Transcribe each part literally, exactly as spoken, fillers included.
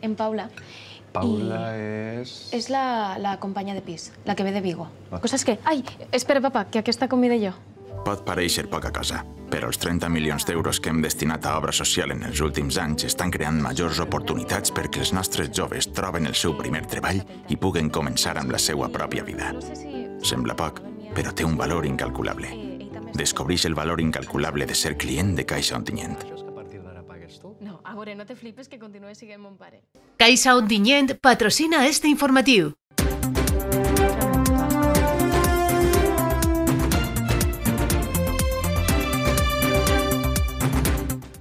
en Paula. Paula és... És la companya de pis, la que ve de Vigo. Cosa és que... Ai, espera, papa, que aquesta convida jo. Pot parèixer poca cosa, però els trenta milions d'euros que hem destinat a obra social en els últims anys estan creant majors oportunitats perquè els nostres joves troben el seu primer treball i puguen començar amb la seva pròpia vida. Sembla poc, però té un valor incalculable. Descobreix el valor incalculable de ser client de Caixa Ontinyent. No, a veure, no te flipes que continue siguent mon pare. Caixa Ontinyent patrocina este informatiu.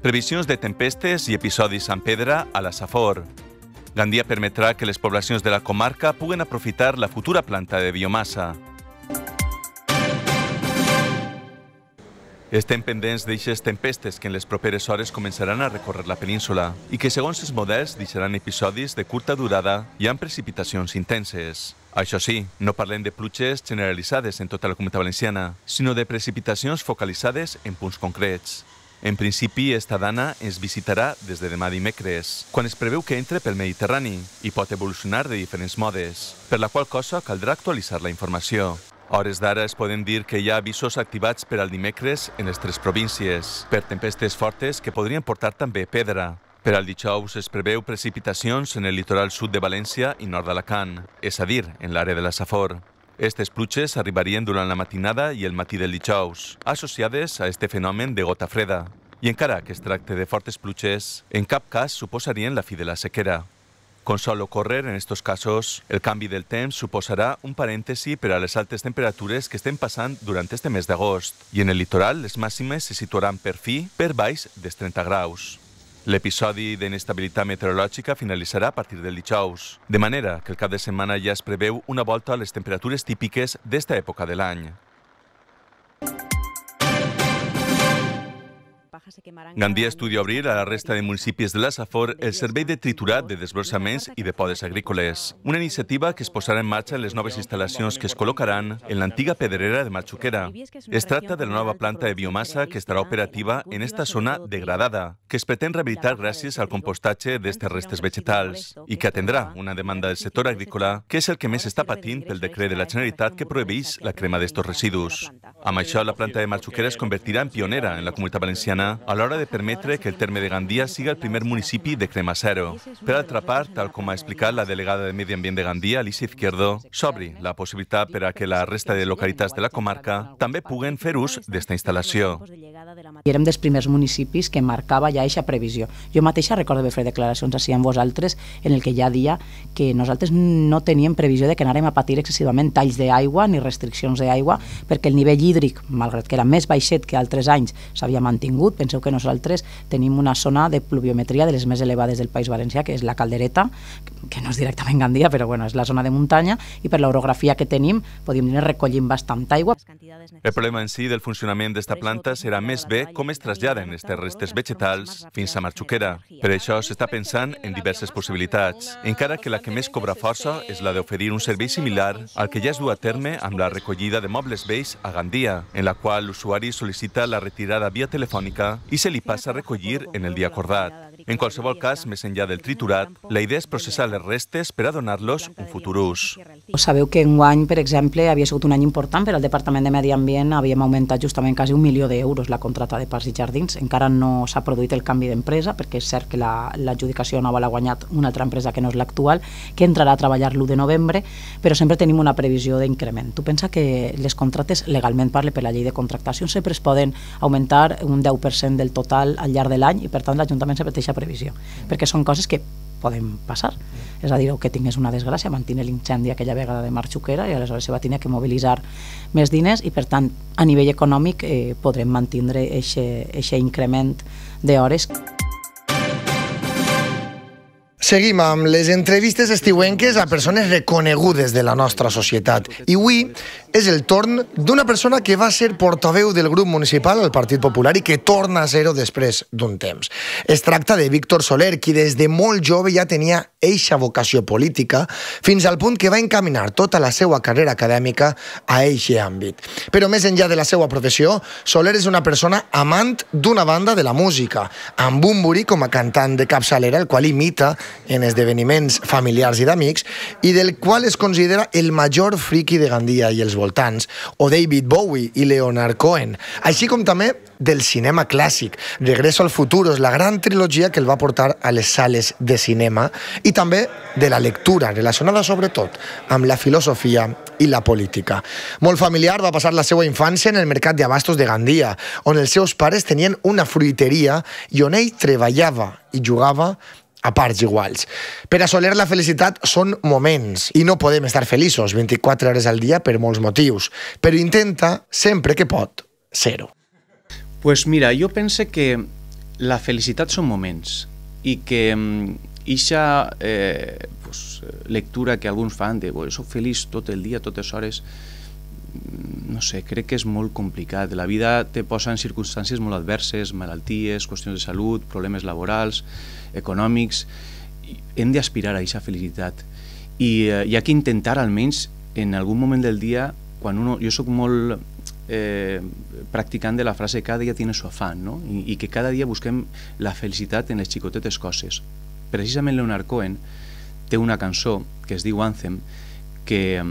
Previsions de tempestes i episodis amb pedra a la Safor. Gandia permetrà que les poblacions de la comarca puguen aprofitar la futura planta de biomassa. Estem pendents d'eixes tempestes que en les properes hores començaran a recórrer la península i que, segons els models, deixaran episodis de curta durada i amb precipitacions intenses. Això sí, no parlem de pluges generalitzades en tota la Comunitat Valenciana, sinó de precipitacions focalitzades en punts concrets. En principi, esta dana es visitarà des de demà dimecres, quan es preveu que entre pel Mediterrani i pot evolucionar de diferents modes, per la qual cosa caldrà actualitzar la informació. A hores d'ara es poden dir que hi ha avisos activats per al dimecres en les tres províncies, per tempestes fortes que podrien portar també pedra. Per al dijous es preveu precipitacions en el litoral sud de València i nord d'Alacant, és a dir, en l'àrea de la Safor. Estes pluges arribarien durant la matinada i el matí del dijous, associades a este fenomen de gota freda. I encara que es tracte de fortes pluges, en cap cas suposarien la fi de la sequera. Com sol ocorrer en estos casos, el canvi del temps suposarà un parèntesi per a les altes temperatures que estem passant durant este mes d'agost, i en el litoral les màximes se situaran per fi per baix dels trenta graus. L'episodi d'inestabilitat meteorològica finalitzarà a partir del dijous, de manera que el cap de setmana ja es preveu una volta a les temperatures típiques d'esta època de l'any. Gandia estudia obrir a la resta de municipis de la Safor el servei de triturat de desbrossaments i de podes agrícoles, una iniciativa que es posarà en marxa en les noves instal·lacions que es col·locaran en l'antiga pedrera de Marxuquera. Es tracta de la nova planta de biomassa que estarà operativa en esta zona degradada, que es pretén rehabilitar gràcies al compostatge d'estes restes vegetals i que atendrà una demanda del sector agrícola, que és el que més està patint pel decret de la Generalitat que prohibeix la crema d'estos residus. Amb això, la planta de Marxuquera es convertirà en pionera en la Comunitat Valenciana a l'hora de permetre que el terme de Gandia siga el primer municipi de crema zero. Per altra part, tal com ha explicat la delegada de Medi Ambient de Gandia, Alicia Izquierdo, s'obri la possibilitat per a que la resta de localitats de la comarca també puguen fer ús d'esta instal·lació. I érem dels primers municipis que marcava ja aquesta previsió. Jo mateixa recordo haver fet declaracions així amb vosaltres en el que ja dia que nosaltres no teníem previsió de que anàrem a patir excessivament talls d'aigua ni restriccions d'aigua, perquè el nivell hídric, malgrat que era més baixet que altres anys, s'havia mantingut. Penseu que nosaltres tenim una zona de pluviometria de les més elevades del País Valencià, que és la Caldereta, que no és directament Gandia, però bueno, és la zona de muntanya, i per l'orografia que tenim, podríem dir, recollim bastant aigua. El problema en si del funcionament d'esta planta serà més bé com es traslladen aquestes restes vegetals fins a Marxuquera. Per això s'està pensant en diverses possibilitats, encara que la que més cobra força és la d'oferir un servei similar al que ja es du a terme amb la recollida de mobles vells a Gandia, en la qual l'usuari sol·licita la retirada via telefònica i se li passa a recollir en el dia acordat. En qualsevol cas, més enllà del triturat, la idea és processar les restes per a donar-los un futur ús. Sabeu que enguany, per exemple, havia sigut un any important per al Departament de Medi Ambient, havíem augmentat justament quasi un milió d'euros la contrata de parcs i jardins. Encara no s'ha produït el canvi d'empresa, perquè és cert que l'adjudicació nova l'ha guanyat una altra empresa que no és l'actual, que entrarà a treballar l'u de novembre, però sempre tenim una previsió d'increment. Tu pensa que les contractes, legalment parle per la llei de contractació, sempre es poden augmentar un deu per cent del total al llarg de l'any i, per tant, l'Ajuntament sempre té aquesta previsió, perquè són coses que poden passar. És a dir, o que tingués una desgràcia, mantenir l'incendi aquella vegada de Marxuquera i aleshores se va tenir que mobilitzar més diners i, per tant, a nivell econòmic eh, podrem mantindre aquest increment d'hores. Seguim amb les entrevistes estiuenques a persones reconegudes de la nostra societat. I avui és el torn d'una persona que va ser portaveu del grup municipal al Partit Popular i que torna a ser-ho després d'un temps. Es tracta de Víctor Soler, qui des de molt jove ja tenia eixa vocació política, fins al punt que va encaminar tota la seva carrera acadèmica a eixe àmbit. Però més enllà de la seva professió, Soler és una persona amant d'una banda de la música, amb Bumburi com a cantant de capçalera, el qual imita en esdeveniments familiars i d'amics i del qual es considera el major friki de Gandia i els voltants, o David Bowie i Leonard Cohen, així com també del cinema clàssic. Regreso al futuro és la gran trilogia que el va portar a les sales de cinema i també de la lectura, relacionada sobretot amb la filosofia i la política. Molt familiar va passar la seva infància en el mercat d'abastos de Gandia, on els seus pares tenien una fruiteria i on ell treballava i jugava a parts iguals. Per assolir la felicitat són moments i no podem estar feliços vint-i-quatre hores al dia per molts motius, però intenta, sempre que pot, ser-ho. Pues mira, jo pense que la felicitat són moments i que eixa eh, pues, lectura que alguns fan de oh, soc feliç tot el dia, totes hores, no sé, crec que és molt complicat. La vida te posa en circumstàncies molt adverses, malalties, qüestions de salut, problemes laborals, econòmics. Hem d'aspirar a aquesta felicitat i eh, hi ha que intentar almenys en algun moment del dia, quan uno, jo soc molt eh, practicant de la frase cada dia tiene su afán, no? I, i que cada dia busquem la felicitat en les xicotetes coses. Precisament Leonard Cohen té una cançó que es diu Anthem que,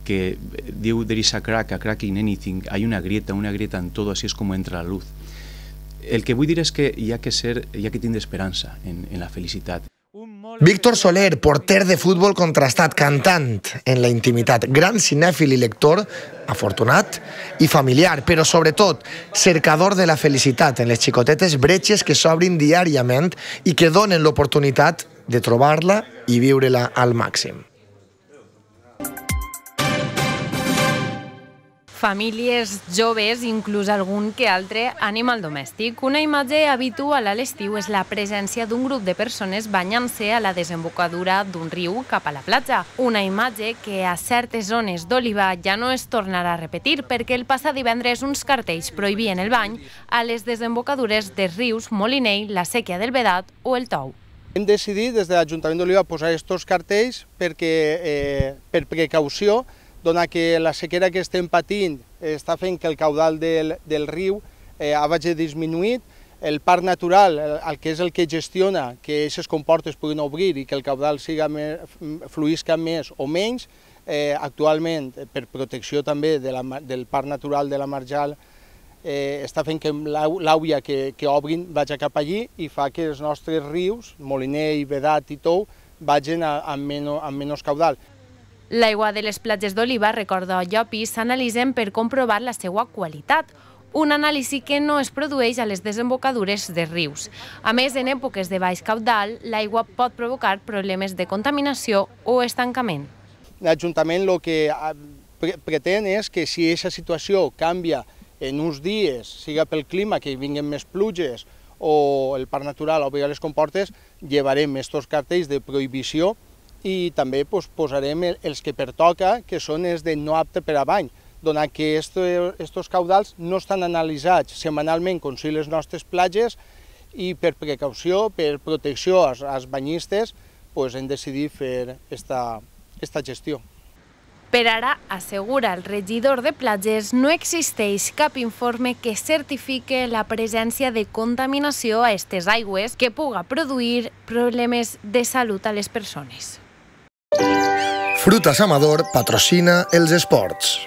que diu there is a crack, a crack in anything, hay una grieta, una grieta en todo, así es como entra la luz. El que vull dir és que hi ha que ser, hi ha que tindre esperança en, en la felicitat. Víctor Soler, porter de futbol contrastat, cantant en la intimitat, gran cinèfil i lector, afortunat i familiar, però sobretot cercador de la felicitat en les xicotetes bretxes que s'obrin diàriament i que donen l'oportunitat de trobar-la i viure-la al màxim. Famílies joves, inclús algun que altre animal domèstic. Una imatge habitual a l'estiu és la presència d'un grup de persones banyant-se a la desembocadura d'un riu cap a la platja. Una imatge que a certes zones d'Oliva ja no es tornarà a repetir perquè el passat divendres uns cartells prohibien el bany a les desembocadures dels rius Molinell, la Sèquia del Vedat o el Tou. Hem decidit des de l'Ajuntament d'Oliva posar aquests cartells perquè, eh, per precaució, donat que la sequera que estem patint està fent que el caudal del, del riu eh, hagi disminuït, el parc natural, el, el que és el que gestiona que aquestes comportes puguin obrir i que el caudal siga més, fluïsca més o menys, eh, actualment, per protecció també de la, del parc natural de la Marjal, eh, està fent que l'àuia que, que obrin vagi cap allí i fa que els nostres rius, Molinell, Vedat i Tou, vagin a, amb, menys, amb menys caudal. L'aigua de les platges d'Oliva, recorda Llopis, s'analitzen per comprovar la seva qualitat, un anàlisi que no es produeix a les desembocadures de rius. A més, en èpoques de baix caudal, l'aigua pot provocar problemes de contaminació o estancament. L'Ajuntament el que pretén és que si aquesta situació canvia en uns dies, siga pel clima, que vinguin més pluges o el parc natural obri les comportes, llevarem aquests cartells de prohibició i també pues, posarem els que pertoca, que són els de no apte per a bany, donat que aquests caudals no estan analitzats setmanalment com són les nostres platges i per precaució, per protecció als, als banyistes, pues, hem decidit fer aquesta gestió. Per ara, assegura el regidor de platges, no existeix cap informe que certifique la presència de contaminació a aquestes aigües que puga produir problemes de salut a les persones. Frutas Amador patrocina els esports.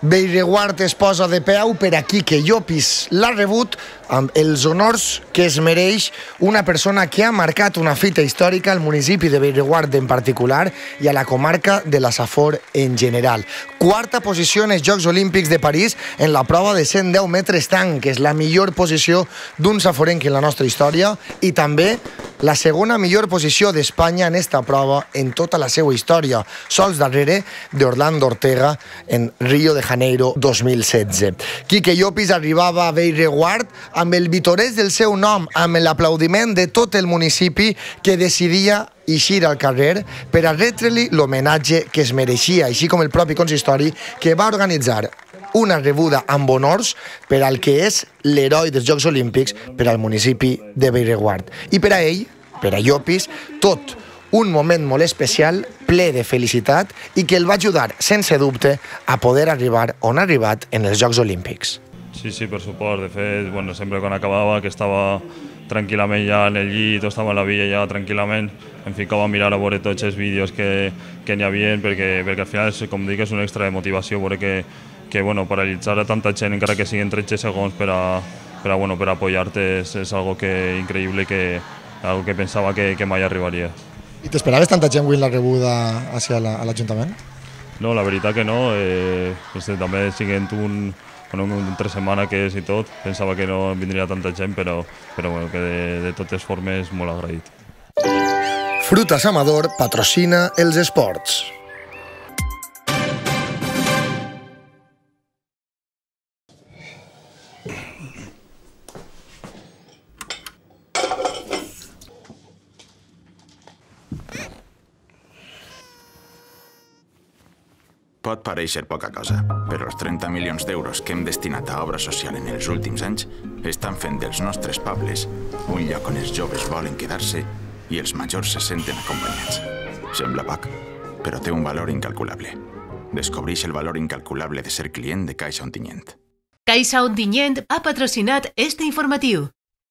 Bellreguard es posa de peu per aquí que Llopis l'ha rebut amb els honors que es mereix una persona que ha marcat una fita històrica al municipi de Bellreguard en particular i a la comarca de la Safor en general. Quarta posició en els Jocs Olímpics de París en la prova de cent deu metres tanc, que és la millor posició d'un saforenc en la nostra història i també la segona millor posició d'Espanya en esta prova en tota la seva història, sols darrere d'Orlando Ortega en Rio de Janeiro dos mil setze. Quique Llopis arribava a Bellreguard amb el vitorès del seu nom, amb l'aplaudiment de tot el municipi que decidia eixir al carrer per a retre-li l'homenatge que es mereixia, així com el propi consistori que va organitzar una rebuda amb honors per al que és l'heroi dels Jocs Olímpics per al municipi de Bellreguard. I per a ell, per a Llopis, tot un moment molt especial, ple de felicitat i que el va ajudar, sense dubte, a poder arribar on ha arribat en els Jocs Olímpics. Sí, sí, per supost. De fet, bueno, sempre quan acabava, que estava tranquil·lament ja en el llit o estava en la villa ja tranquil·lament, em ficava a mirar a veure tots els vídeos que, que n'hi havia, perquè, perquè al final, com dic, és un extra de motivació veure que, que bueno, paralitzar a tanta gent, encara que siguin tretze segons per a, per a, bueno, per a apoyar-te, és, és algo que, increïble, que, algo que pensava que, que mai arribaria. I t'esperaves tanta gent avui en la rebuda hacia la, a l'Ajuntament? No, la veritat que no. Eh, també siguent un, bueno, un tres setmanes que és i tot, pensava que no vindria tanta gent, però, però bueno, que de, de totes formes molt agraït. Frutas Amador patrocina els esports. Pot parèixer poca cosa, però els trenta milions d'euros que hem destinat a obra social en els últims anys estan fent dels nostres pobles un lloc on els joves volen quedar-se i els majors se senten acompanyats. Sembla poc, però té un valor incalculable. Descobreix el valor incalculable de ser client de Caixa Ontinyent. Caixa Ontinyent ha patrocinat este informatiu.